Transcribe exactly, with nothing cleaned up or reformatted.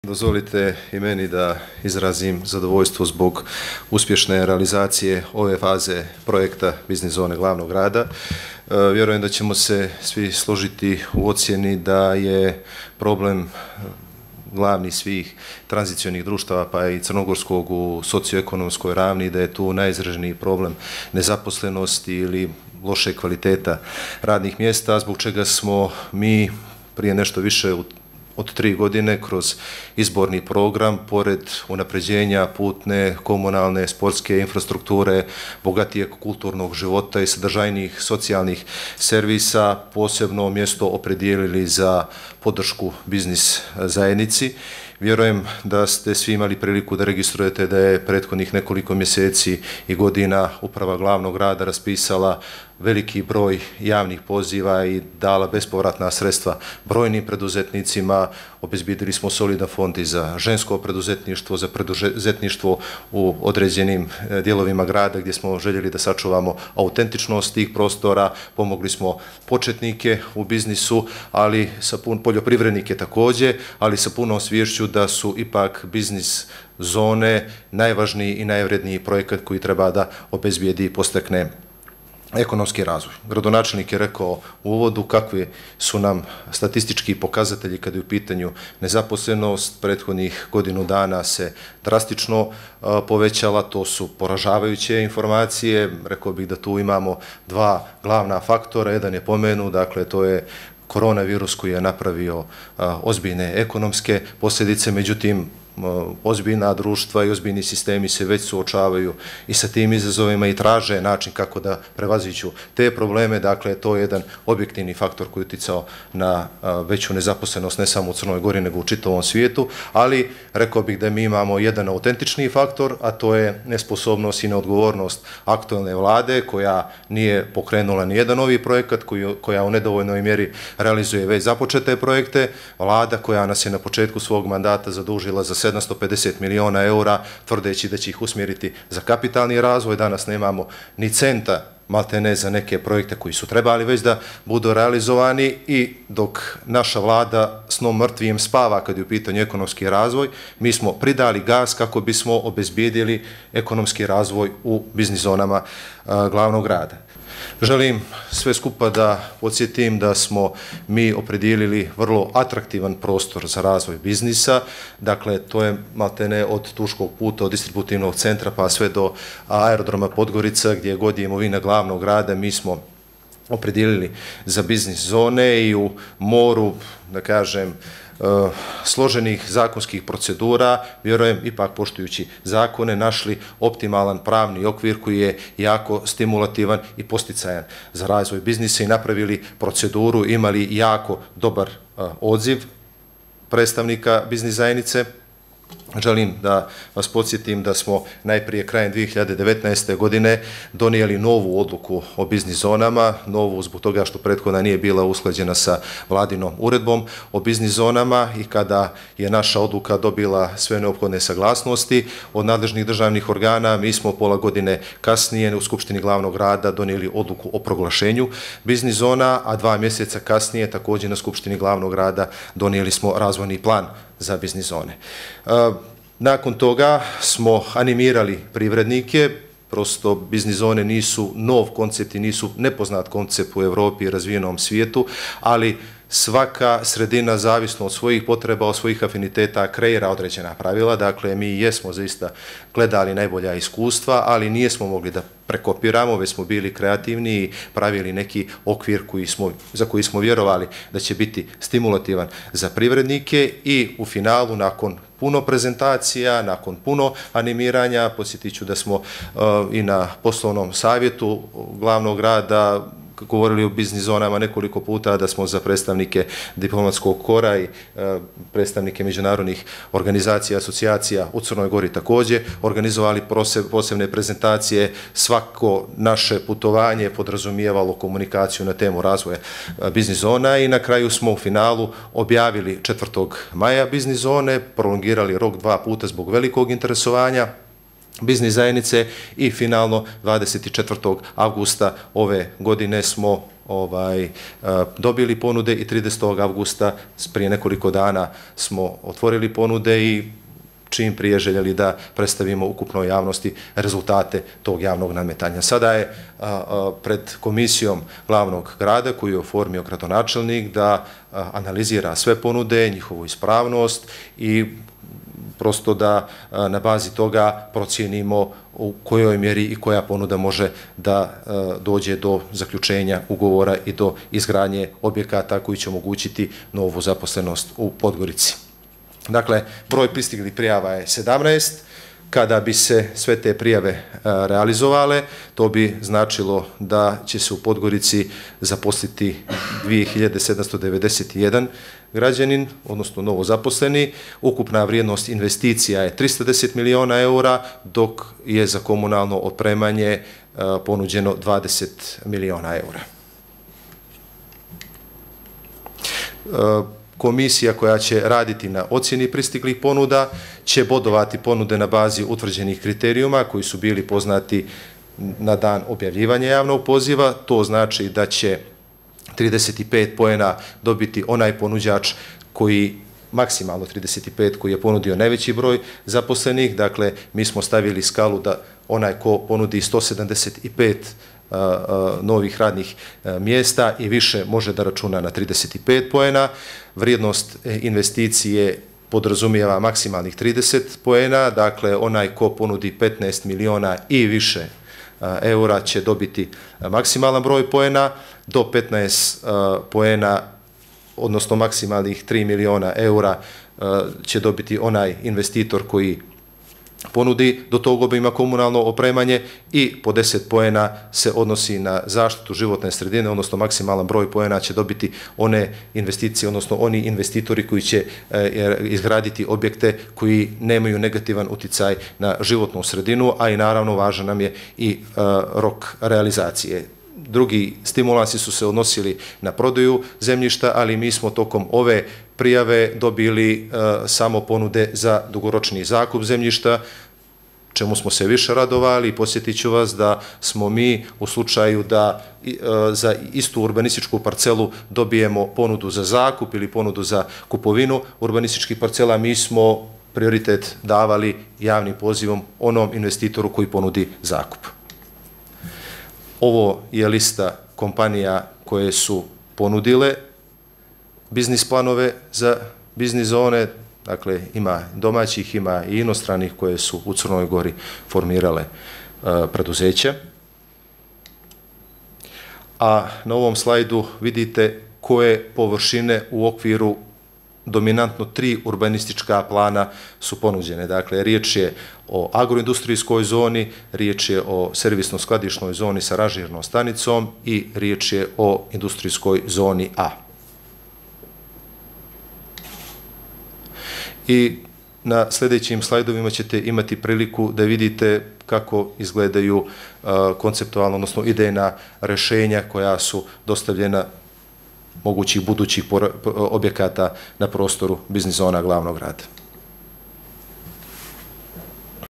Dozvolite i meni da izrazim zadovoljstvo zbog uspješne realizacije ove faze projekta Biznis zone glavnog grada. Vjerujem da ćemo se svi složiti u ocjeni da je problem glavni svih tranzicionih društava, pa i crnogorskog u socioekonomskoj ravni, da je tu najizraženiji problem nezaposlenosti ili loše kvaliteta radnih mjesta, zbog čega smo mi prije nešto više od tri godine kroz izborni program, pored unapređenja putne, komunalne, sportske infrastrukture, bogatijeg kulturnog života i sadržajnih socijalnih servisa, posebno mjesto opredijelili za podršku biznis zajednici. Vjerujem da ste svi imali priliku da registrujete da je prethodnih nekoliko mjeseci i godina uprava glavnog grada raspisala veliki broj javnih poziva i dala bespovratna sredstva brojnim preduzetnicima. Obezbjedili smo solidan fond i za žensko preduzetništvo, za preduzetništvo u određenim dijelovima grada gdje smo željeli da sačuvamo autentičnost tih prostora. Pomogli smo početnike u biznisu, ali sa pun, poljoprivrednike također, ali sa punom sviješću da su ipak biznis zone najvažniji i najvredniji projekat koji treba da obezbijedi i postekne ekonomski razvoj. Gradonačelnik je rekao u uvodu kakvi su nam statistički pokazatelji kada je u pitanju nezaposlenost. Prethodnih godinu dana se drastično povećala, to su poražavajuće informacije. Rekao bih da tu imamo dva glavna faktora, jedan je pomenu, dakle to je koronavirus koji je napravio ozbiljne ekonomske posljedice, međutim ozbiljna društva i ozbiljni sistemi se već suočavaju i sa tim izazovima i traže način kako da prevaziđu te probleme. Dakle, to je jedan objektivni faktor koji je uticao na veću nezaposlenost ne samo u Crnoj Gori nego u čitavom svijetu, ali rekao bih da mi imamo jedan autentični faktor, a to je nesposobnost i neodgovornost aktualne vlade koja nije pokrenula ni jedan novi projekat, koja u nedovoljnoj mjeri realizuje već započete projekte, vlada koja nas je na početku svog mandata zadužila za sedamsto pedeset miliona eura, tvrdeći da će ih usmjeriti za kapitalni razvoj. Danas nemamo ni centa maltene za neke projekte koji su trebali već da budu realizovani, i dok naša vlada snom mrtvim spava kad je u pitanju ekonomski razvoj, mi smo pridali gas kako bismo obezbijedili ekonomski razvoj u biznis zonama glavnog grada. Želim sve skupa da podsjetim da smo mi opredijelili vrlo atraktivan prostor za razvoj biznisa. Dakle, to je maltene od Tuškog puta, od distributivnog centra pa sve do aerodroma Podgorica, gdje god je imovina glavnog grada, mi smo opredijelili za biznis zone i u moru, da kažem, složenih zakonskih procedura, vjerujem ipak poštujući zakone, našli optimalan pravni okvir koji je jako stimulativan i posticajan za razvoj biznisa i napravili proceduru, imali jako dobar odziv predstavnika biznis zajednice. Želim da vas podsjetim da smo najprije krajem dvije hiljade devetnaeste. godine donijeli novu odluku o biznis zonama, novu zbog toga što prethodna nije bila usklađena sa vladinom uredbom o biznis zonama, i kada je naša odluka dobila sve neophodne saglasnosti od nadležnih državnih organa, mi smo pola godine kasnije u Skupštini glavnog grada donijeli odluku o proglašenju biznis zona, a dva mjeseca kasnije također na Skupštini glavnog grada donijeli smo razvojni plan za biznis zone. Nakon toga smo animirali privrednike, prosto biznis zone nisu nov koncept i nisu nepoznat koncept u Europi i razvijenom svijetu, ali svaka sredina, zavisno od svojih potreba, od svojih afiniteta, kreira određena pravila. Dakle, mi jesmo zaista gledali najbolja iskustva, ali nijesmo mogli da prekopiramo, već smo bili kreativni i pravili neki okvir koji smo, za koji smo vjerovali da će biti stimulativan za privrednike, i u finalu, nakon puno prezentacija, nakon puno animiranja, podsjetit ću da smo uh, i na poslovnom savjetu glavnog grada govorili o biznis zonama nekoliko puta, da smo za predstavnike diplomatskog kora i e, predstavnike međunarodnih organizacija, asocijacija u Crnoj Gori također organizovali posebne prezentacije. Svako naše putovanje podrazumijevalo komunikaciju na temu razvoja biznis zona, i na kraju smo u finalu objavili četvrtog maja biznis zone, prolongirali rok dva puta zbog velikog interesovanja biznis zajednice, i finalno dvadeset četvrtog avgusta ove godine smo ovaj, dobili ponude i tridesetog avgusta prije nekoliko dana smo otvorili ponude i čim prije željeli da predstavimo ukupnoj javnosti rezultate tog javnog nadmetanja. Sada je a, a, pred komisijom glavnog grada koju je oformio gradonačelnik da a, analizira sve ponude, njihovu ispravnost i prosto da a, na bazi toga procijenimo u kojoj mjeri i koja ponuda može da a, dođe do zaključenja ugovora i do izgradnje objekata koji će omogućiti novu zaposlenost u Podgorici. Dakle, broj pristiglih prijava je sedamnaest. Kada bi se sve te prijave realizovale, to bi značilo da će se u Podgorici zaposliti dvije hiljade sedamsto devedeset jedan građanin, odnosno novo zaposleni. Ukupna vrijednost investicija je trista deset miliona eura, dok je za komunalno opremanje ponuđeno dvadeset miliona eura. Komisija koja će raditi na ocjeni pristiglih ponuda će bodovati ponude na bazi utvrđenih kriterijuma koji su bili poznati na dan objavljivanja javnog poziva. To znači da će trideset pet poena dobiti onaj ponuđač koji, maksimalno trideset pet, koji je ponudio najveći broj zaposlenih. Dakle, mi smo stavili skalu da onaj ko ponudi sto sedamdeset pet novih radnih mjesta i više može da računa na trideset pet poena. Vrijednost investicije podrazumijeva maksimalnih trideset poena, dakle onaj ko ponudi petnaest miliona i više eura će dobiti maksimalan broj poena, do petnaest poena, odnosno maksimalnih tri miliona eura će dobiti onaj investitor koji ponudi do tog obima komunalno opremanje i po deset poena se odnosi na zaštitu životne sredine, odnosno maksimalan broj poena će dobiti one investicije, odnosno oni investitori koji će izgraditi objekte koji nemaju negativan uticaj na životnu sredinu, a i naravno važan nam je i rok realizacije. Drugi stimulansi su se odnosili na prodaju zemljišta, ali mi smo tokom ove prijave dobili uh, samo ponude za dugoročni zakup zemljišta, čemu smo se više radovali. Posjetit ću vas da smo mi u slučaju da uh, za istu urbanističku parcelu dobijemo ponudu za zakup ili ponudu za kupovinu urbanističkih parcela, mi smo prioritet davali javnim pozivom onom investitoru koji ponudi zakup. Ovo je lista kompanija koje su ponudile biznis planove za biznis zone, dakle ima domaćih, ima i inostranih koje su u Crnoj Gori formirale uh, preduzeća. A na ovom slajdu vidite koje površine u okviru dominantno tri urbanistička plana su ponuđene. Dakle, riječ je o agroindustrijskoj zoni, riječ je o servisno-skladišnoj zoni sa ranžirnom stanicom i riječ je o industrijskoj zoni A. I na sljedećim slajdovima ćete imati priliku da vidite kako izgledaju uh, konceptualno, odnosno idejna rješenja koja su dostavljena mogućih budućih objekata na prostoru biznis zona glavnog grada.